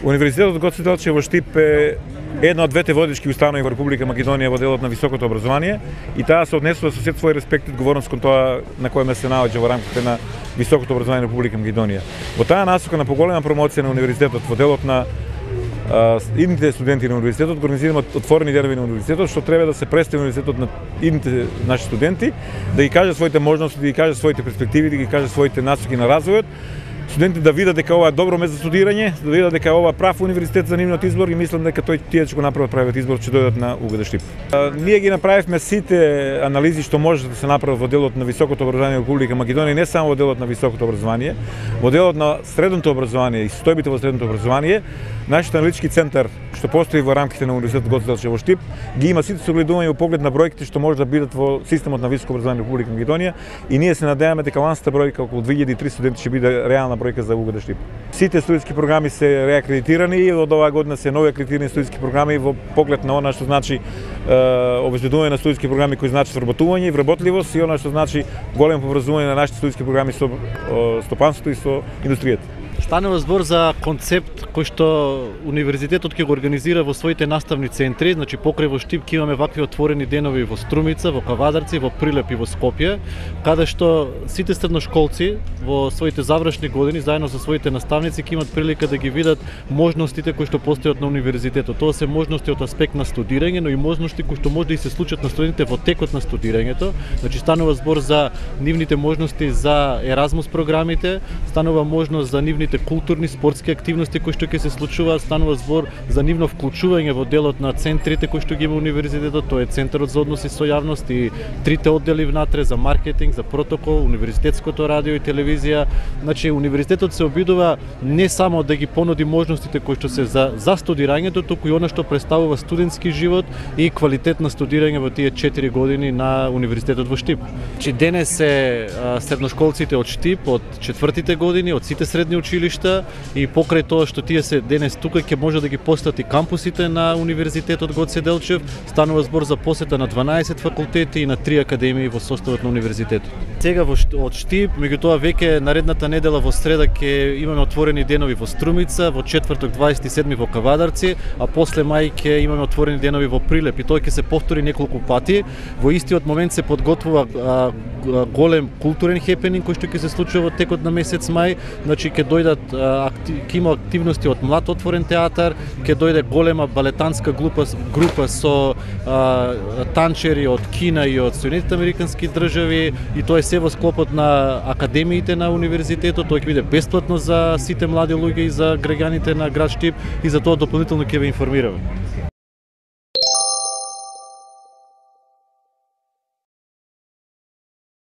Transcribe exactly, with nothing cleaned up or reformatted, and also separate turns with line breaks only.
Универзитетот Гоце Делчев во Штип е една од двете водички установи во Република Македонија во делот на високото образование и таа се однесува со сет свој респект и одговорност кон тоа на кој се наоѓа во рамките на високото образование на Република Македонија. Во таа насока на поголема промоција на универзитетот во делот на а, идните студенти на универзитетот организираме отворени денови на универзитетот, што треба да се представи универзитетот на идните наши студенти, да ги каже своите можности, да ги каже своите перспективи, да ги каже своите насоки на развојот. Студентите да видат дека ова е добро место за студирање, да видат дека ова е прав универзитет за нивниот избор и мислам дека тој тие ќе го направат правиот избор, ќе дојдат на УГД Штип. А, ние ги направивме сите анализи што може да се направат во делот на високото образование во Република Македонија, не само во делот на високото образование, во делот на средното образование и состојбите во средното образование. Нашиот аналитички центар што постои во рамките на Универзитетот Гоце Делчев во Штип ги има сите согледувања во поглед на бројките што може да бидат во системот на високо образование во Република Македонија и ние се надеваме дека ланската бројка околу две илјади и триста студенти ќе биде реална бројка за УГД Штип. Сите студентски програми се реакредитирани и од оваа година се нови акредитирани студентски програми во поглед на она што значи е, обезбедување на студентски програми кои значат вработување и вработливост и она што значи големо поврзување на нашите студентски програми со стопанството и со индустријата.
Станува збор за концепт кој што универзитетот ќе го организира во своите наставни центри, значи покрај во Штип ќе имаме вакви отворени денови во Струмица, во Кавадарци, во Прилеп и во Скопје, каде што сите средношколци во своите завршни години заедно со своите наставници ќе имат прилика да ги видат можностите кои што постојат на универзитетот. Тоа се можности од аспект на студирање, но и можности кои што може да и се случат на студентите во текот на студирањето. Значи станува збор за нивните можности за Еразмус програмите, станува можност за нивните културни, спортски активности кои што ќе се случуваат, станува збор за нивно вклучување во делот на центрите кои што ги има универзитетот, тоа е Центарот за односи со јавност и трите оддели внатре за маркетинг, за протокол, универзитетското радио и телевизија. Значи универзитетот се обидува не само да ги понуди можностите кои што се за за студирањето, туку и она што представува студентски живот и квалитет на студирање во тие четири години на универзитетот во Штип. Значи денес се средношколците од Штип, од четвртите години, од сите средни училишта и покрај тоа што тие се денес тука ќе може да ги посети кампусите на Универзитетот Гоце Делчев, станува збор за посета на дванаесет факултети и на три академии во составот на универзитетот. Сега во од Штип, меѓутоа веќе наредната недела во среда ќе имаме отворени денови во Струмица, во четврток дваесет и седми во Кавадарци, а после мај ќе имаме отворени денови во Прилеп и тоа ќе се повтори неколку пати. Во истиот момент се подготвува а, голем културен хепенинг кој што ќе се случува во текот на месец мај, значи ќе дојдат ќе има активности од млад отворен театар, ќе дојде голема балетанска група група со а, танчери од Кина и од Соединетите американски држави и тоа е се во склопот на академиите на универзитетот. Тоа ќе биде бесплатно за сите млади луѓе и за граѓаните на град Штип и за тоа дополнително ќе ве информираме.